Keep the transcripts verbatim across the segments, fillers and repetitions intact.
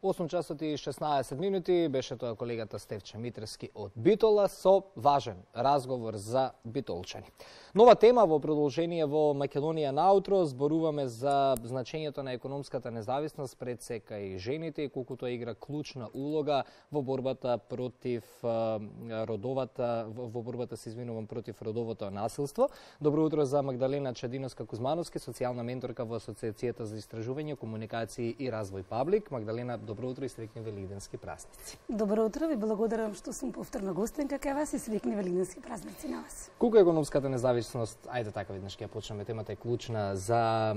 осум часот и шеснаесет минути беше тоа колегата Стефче Митревски од Битола со важен разговор за битолчани. Нова тема во продолжение во Македонија наутро, зборуваме за значењето на економската независност пред сека и жените и колку тоа игра клучна улога во борбата против родовата во борбата се извинувам против родовото насилство. Добро утро за Магдалена Чадиновска-Кузмановски, социјална менторка во Асоциацијата за истражување, комуникации и развој Паблик. Магдалена, добро утро и среќни велигденски празници. Добро утро, ви благодарам што сум повторна гостинка кај вас и среќни велигденски празници на вас. Колку економската независност, ајде така веднаш ќе ја почнеме, темата е клучна за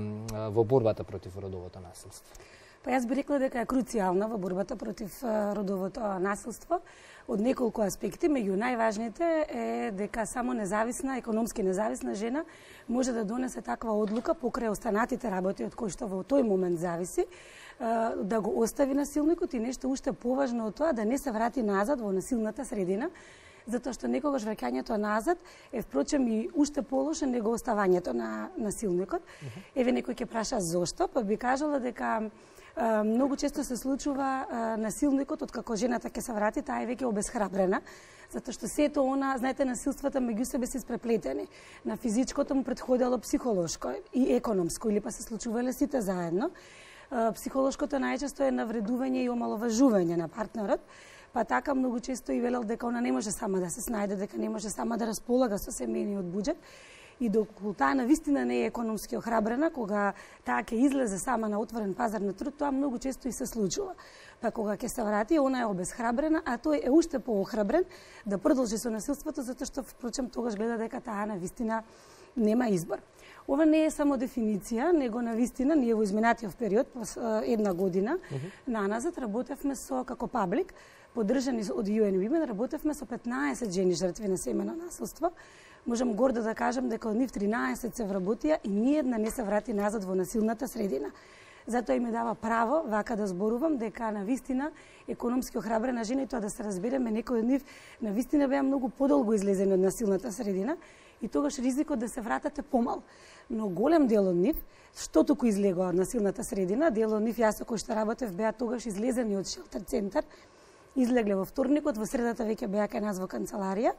во борбата против родовото насилство? Па јас би рекла дека е круцијална во борбата против родовото насилство од неколку аспекти, меѓу најважните е дека само независна, економски независна жена може да донесе таква одлука покрај останатите работи од кои што во тој момент зависи, да го остави насилникот и нешто уште поважно од тоа, да не се врати назад во насилната средина, затоа што некогаш враќањето назад е впрочем и уште полошо него оставањето на насилникот. Еве некој ќе праша зошто, па би кажала дека многу често се случува насилникот, откако жената ќе се врати, таа е веќе обесхрабрена, затоа што сето она, знаете, насилствата меѓу себе се испреплетени. На физичкото му претходело психолошко и економско, или па се случувале сите заедно. Психолошкото најчесто е навредување и омаловажување на партнерот, па така многу често и велел дека она не може сама да се снајде, дека не може сама да располага со семејниот буџет. И доколку таа навистина не е економски охрабрена, кога таа ќе излезе сама на отворен пазар на труд, тоа многу често и се случува. Па кога ќе се врати, она е обесхрабрена, а тој е уште поохрабрен да продолжи со насилството, затоа што впрочем тогаш гледа дека таа навистина нема избор. Ова не е само дефиниција, него навистина ние во изминатиот период, една година, uh -huh. наназад работевме со како Паблик, поддржани од Ю Ен Women, работевме со петнаесет жени жртви на семејно насилство. Можам гордо да кажам дека од нив тринаесет се вработија и ниедна не се врати назад во насилната средина. Затоа и ми дава право вака да зборувам дека навистина економски охрабрена жена, и тоа да се разбереме, некои од нив навистина беа многу подолго излезени од насилната средина и тогаш ризикот да се вратат е помал. Но голем дел од нив, што туку излегоа од насилната средина, дел од нив јас со кој што работев беа тогаш излезени од шелтер центар, излегле во вторникот, во средата веќе беа кај нас во канцеларија.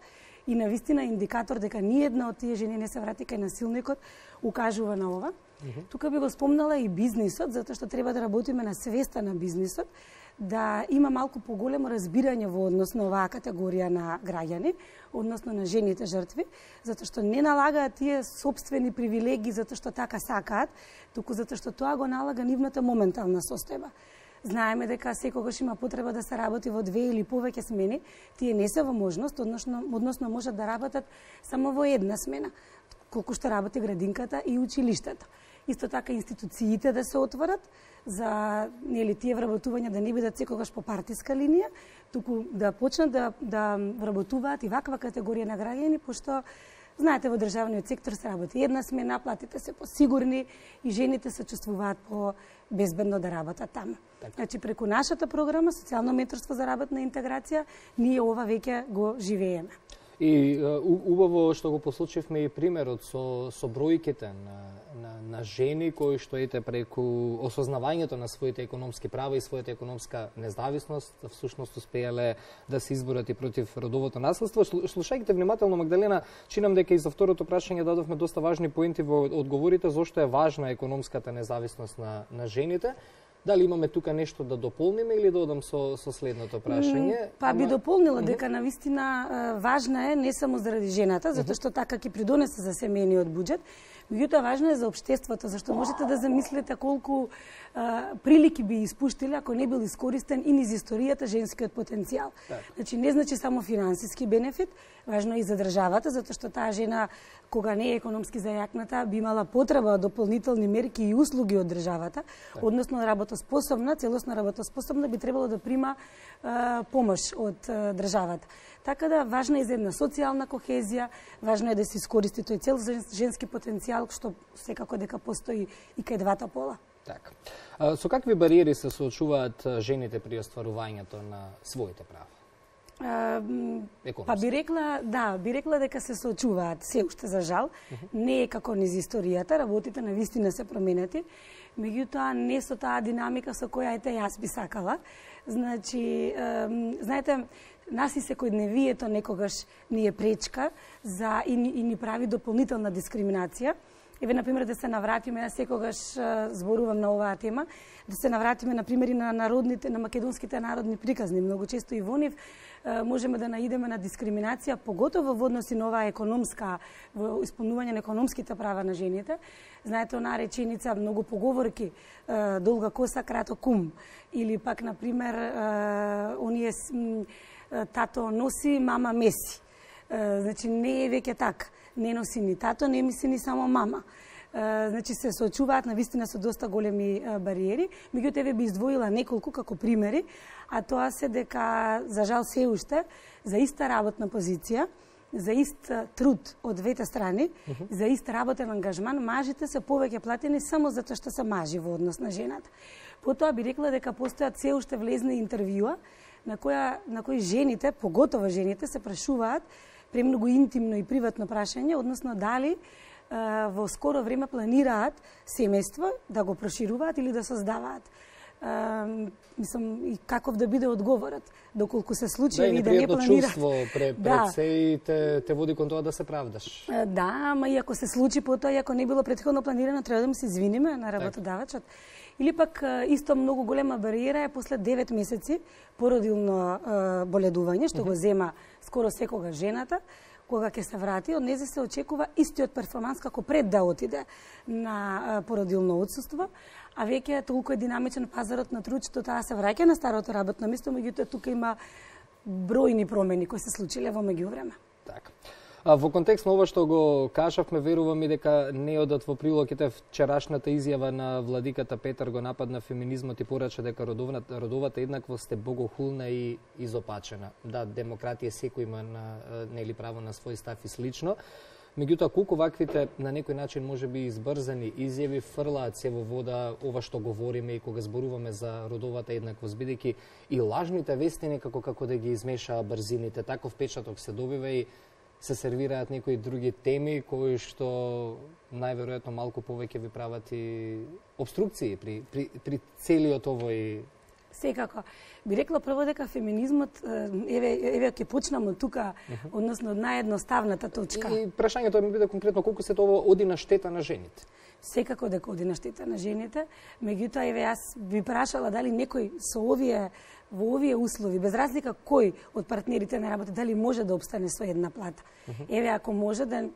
И навистина индикатор дека ниедна од тие жени не се врати кај насилникот укажува на ова. Uh -huh. Тука би го спомнала и бизнисот, затоа што треба да работиме на свеста на бизнисот, да има малку поголемо разбирање во однос на оваа категорија на граѓани, односно на жените жртви, затоа што не налагаат тие собствени привилегии затоа што така сакаат, туку затоа што тоа го налага нивната моментална состојба. Знаеме дека секогаш има потреба да се работи во две или повеќе смени, тие не се во можност, односно, односно можат да работат само во една смена, колку што работи градинката и училиштата. Исто така институциите да се отворат за нели тие вработувања да не бидат секогаш по партиска линија, туку да почнат да да вработуваат и ваква категорија на граѓани, пошто знаете, во државниот сектор се работи една смена, платите се посигурни и жените се чувствуваат по безбедно да работат таму. Так. Значи, преку нашата програма Социјално менторство за работна интеграција, ние ова веќе го живееме. И убаво што го послучивме и примерот со, со бројките на, на, на жени кои што ете преку осознавањето на своите економски права и својата економска независност, всушност успеале да се изборат и против родовото насилство. Слушајќите внимателно, Магдалена, чинам дека и за второто прашање дадовме доста важни поенти во одговорите зошто е важна економската независност на, на жените. Дали имаме тука нешто да дополниме или да одам со, со следното прашање? Па би дополнила дека навистина важна е не само заради жената, затоа што така ќе придонесе за семејниот буџет, меѓутоа важна е за општеството, зашто можете да замислите колку а, прилики би испуштиле ако не бил искористен и низ историјата женскиот потенцијал. Так. Значи не значи само финансиски бенефит, важно и за државата, затоа што таа жена кога не е економски зајакната би имала потреба од дополнителни мерки и услуги од државата, так. Односно работоспособна, целосно работоспособна би требало да прима а, помош од а, државата. Така да важна е за една социјална кохезија, важно е да се искористи тој цел женски потенцијал што секако дека постои и кај двата пола. Така. Со какви бариери се соочуваат жените при остварувањето на своите права? Па би рекла, да, би рекла дека се соочуваат се уште за жал. Uh -huh. Не е како низ историјата, работите на вистина се променети. меѓутоа не со таа динамика со која ете јас би сакала. Значи, знаете, нас и секојдневието некогаш ни е пречка за и, и ни прави дополнителна дискриминација. Еве, например, да се навратиме, јас секогаш зборувам на оваа тема, да се навратиме, например, и на народните, на македонските народни приказни. Многу често и во нив можеме да наидеме на дискриминација, поготово во односи на оваа економска, во исполнување на економските права на жените. Знаете, онаа реченица, многу поговорки, долга коса, краток ум. Или пак, например, оние тато носи, мама меси. Значи, не е веќе така. Не носи ни тато, не мисли ни само мама. Значи, се соочуваат навистина со доста големи бариери. Меѓутоа, еве би издвоила неколку како примери, а тоа се дека, за жал се уште, за иста работна позиција, за ист труд од двете страни, uh -huh. за ист работен ангажман, мажите се повеќе платени само затоа што се мажи во однос на жената. Потоа би рекла дека постојат се уште влезни интервјуа на која на кои жените, поготово жените, се прашуваат премногу интимно и приватно прашање, односно дали е, во скоро време планираат семејство, да го прошируваат или да создаваат. Uh, мислам, и каков да биде одговорот, доколку се случи да, или да не планираат. Да, чувство пред, пред да. се и те, те води кон тоа да се правдаш. Uh, да, ама и ако се случи потоа, и ако не било претходно планирано, треба да му се извиниме на работодавачот. Или пак исто многу голема бариера е после девет месеци породилно uh, боледување, што uh -huh. го зема скоро секога жената, кога ќе се врати, од незе се очекува истиот перформанс како пред да отиде на породилно отсуство, а веќе е толку е динамичен пазарот на труд, што таа се враќа на старото работно место, меѓутоа тука има бројни промени кои се случиле во меѓувреме. Така. А во контекст на ова што го кажавме, верувам и дека не одат во прилог ете вчерашната изјава на владиката Петар го нападна феминизмот и порача дека родовната, родовата еднаквост е богохулна и изопачена. Да, демократија секој има на, нели право на свој став и слично. Меѓутоа, колку ваквите на некој начин може би избрзани изјави фрлаат се во вода ова што говориме и кога зборуваме за родовата еднаквост, бидејќи и лажните вести некако како да ги измешаа брзините, таков печаток се добива и се сервираат некои други теми кои што најверојатно малку повеќе ви прават и обструкции при, при, при целиот овој. Секако. Би рекла прво дека феминизмот, еве, еве ќе почнам од тука, uh -huh. односно од наједноставната точка. И, и прашањето ми биде конкретно колку се тоа оди на штета на жените? Секако дека оди на штета на жените, меѓутоа еве јас би прашала дали некој со овие во овие услови, без разлика кој од партнерите на работа, дали може да обстане со една плата. Uh -huh. Еве ако може да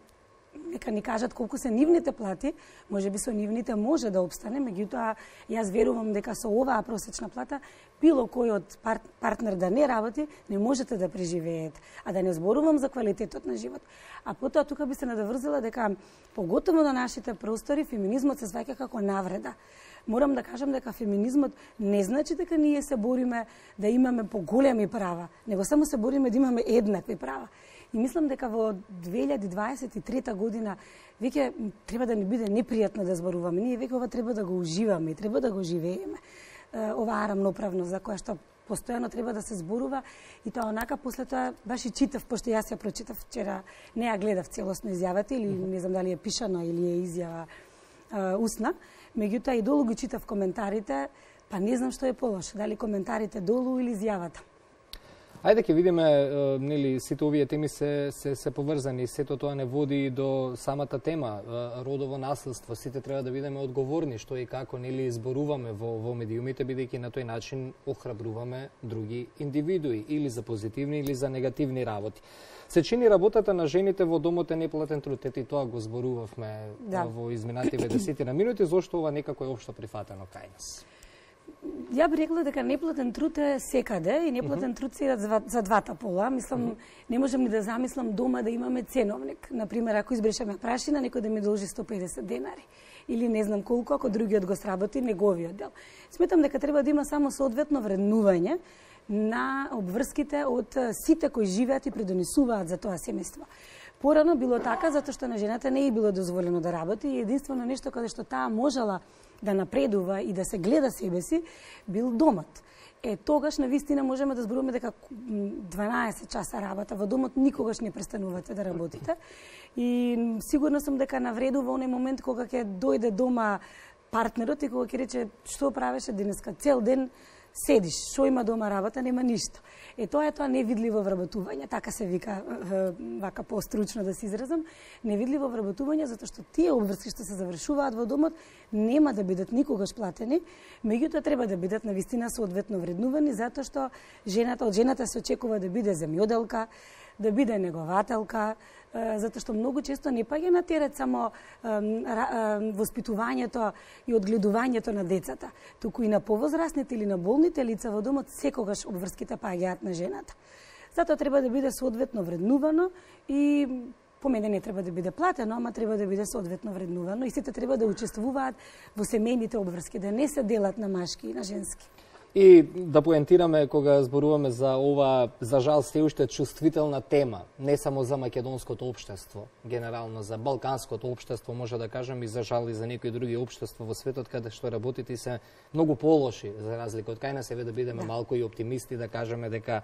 нека ни кажат колку се нивните плати, може би со нивните може да обстане, меѓутоа јас верувам дека со оваа просечна плата било кој од пар, партнер да не работи, не можете да преживеете. А да не зборувам за квалитетот на живот. А потоа тука би се надоврзила дека поготово на нашите простори феминизмот се сваќа како навреда. Морам да кажам дека феминизмот не значи дека ние се бориме да имаме поголеми права, него само се бориме да имаме еднакви права. И мислам дека во две илјади дваесет и трета година веќе треба да ни биде непријатно да зборуваме. Ние веќе ова треба да го уживаме и треба да го живееме. Оваа рамноправност за која што постојано треба да се зборува и тоа онака после тоа баш и читав, пошто јас ја прочитав вчера, не ја гледав целосно изјавата или не знам дали е пишана или е изјава а, устна, меѓутоа и долу ги читав коментарите, па не знам што е полошо, дали коментарите долу или изјавата. Ајде ќе видиме, нели, сите овие теми се, се, се поврзани, сето тоа не води до самата тема, родово насилство, сите треба да бидеме одговорни што и како, нели, зборуваме во, во медиумите, бидејќи на тој начин охрабруваме други индивидуи, или за позитивни, или за негативни работи. Се чини работата на жените во домот е неплатен труд, ете и тоа го зборувавме да. во изминативе десетина минути, зошто ова некако е општо прифатено кај нас? Ја би рекла дека неплатен труд е секаде и неплатен uh -huh. труд се за, за двата пола. Мислам, uh -huh. не можам ни да замислам дома да имаме ценовник. Например, ако избрешеме прашина, некој да ми должи сто педесет денари. Или не знам колку, ако другиот го сработи неговиот дел. Сметам дека треба да има само соодветно вреднување на обврските од сите кои живеат и придонесуваат за тоа семејство. Порано било така, затоа што на жената не е било дозволено да работи и единствено нешто каде што таа можела да напредува и да се гледа себе си, бил домот. Е, тогаш на вистина можеме да зборуваме дека дванаесет часа работа во домот никогаш не престанувате да работите. И сигурно сум дека навредува оној момент кога ќе дојде дома партнерот и кога ќе рече што правеше денеска, цел ден седиш, што има дома работа, нема ништо. Е тоа е тоа невидливо вработување, така се вика, вака постручно да се изразам, невидливо вработување затоа што тие обврски што се завршуваат во домот нема да бидат никогаш платени, меѓутоа треба да бидат навистина соодветно вреднувани затоа што жената од жената се очекува да биде земјоделка, да биде негователка, затоа што многу често не паѓа на терет само воспитувањето и одгледувањето на децата, туку и на повозрастните или на болните лица во домот секогаш обврските паѓаат на жената. Затоа треба да биде соодветно вреднувано и по мене не треба да биде платено, ама треба да биде соодветно вреднувано и сите треба да учествуваат во семејните обврски, да не се делат на машки и на женски. И да поентираме кога зборуваме за ова, за жал, се уште чувствителна тема, не само за македонското општество, генерално за балканското општество, може да кажем и за жал и за некои други општества во светот каде што работите се многу полоши, за разлика од кај нас, еве да бидеме да. малку и оптимисти, да кажеме дека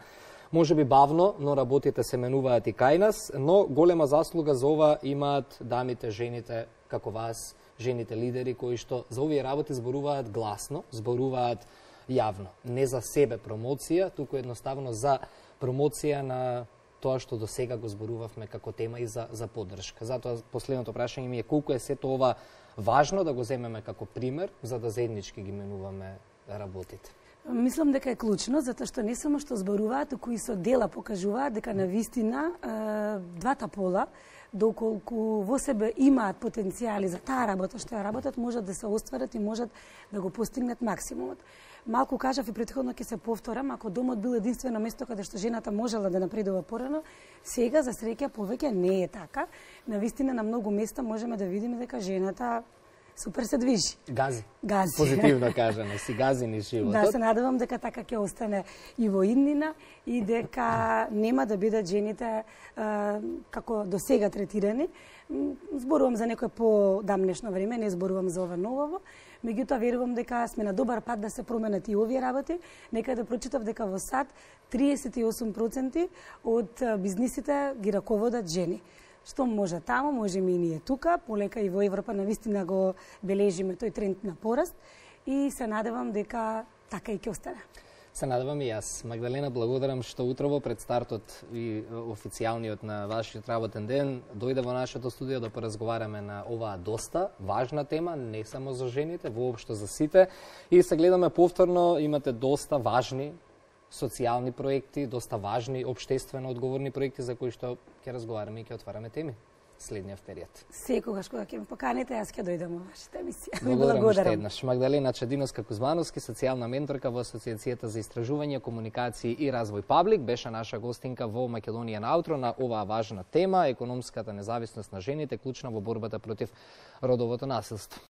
може би бавно, но работите се менуваат и кај нас, но голема заслуга за ова имаат дамите, жените, како вас, жените лидери, кои што за овие работи зборуваат гласно, зборуваат јавно, не за себе промоција, туку едноставно за промоција на тоа што до сега го зборувавме како тема и за, за поддршка. Затоа последното прашање ми е колку е сето ова важно да го земеме како пример, за да заеднички ги менуваме работите. Мислам дека е клучно, затоа што не само што зборуваат, туку и со дела покажуваат дека на вистина двата пола, доколку во себе имаат потенцијали за таа работа што ја работат, можат да се остварат и можат да го постигнат максимумот. Малку кажав и претходно ќе се повторам, ако домот бил единствено место каде што жената можела да напредува порано, сега за среќа повеќе не е така. Навистина на многу места можеме да видиме дека жената супер се движи. Гази. Гази. Позитивно кажано, си гази ни животот. Да, се надевам дека така ќе остане и во иднина и дека нема да бидат жените е, како до сега третирани. Зборувам за некој по-дамнешно време, не зборувам за ова ново. Меѓутоа верувам дека сме на добар пат да се променат и овие работи. Нека да прочитав дека во САД триесет и осум проценти од бизнисите ги раководат жени. Што може таму, можеме и ние тука, полека и во Европа навистина го бележиме тој тренд на пораст и се надевам дека така и ќе остане. Се надевам и јас. Магдалена, благодарам што утрово пред стартот и официјалниот на вашиот работен ден дојде во нашето студио да поразговараме на оваа доста важна тема, не само за жените, воопшто за сите. И се гледаме повторно, имате доста важни социјални проекти, доста важни општествено одговорни проекти за кои што ќе разговараме и ќе отвараме теми следниот период. Секогаш кога ќе ме поканите, јас ќе дојдам во вашата емисија. Благодарам уште еднаш. Магдалена Чадиновска-Кузмановски, социјална менторка во Асоциацијата за истражување, комуникации и развој Паблик, беше наша гостинка во Македонија на Аутро на оваа важна тема, економската независност на жените, клучна во борбата против родовото насилство.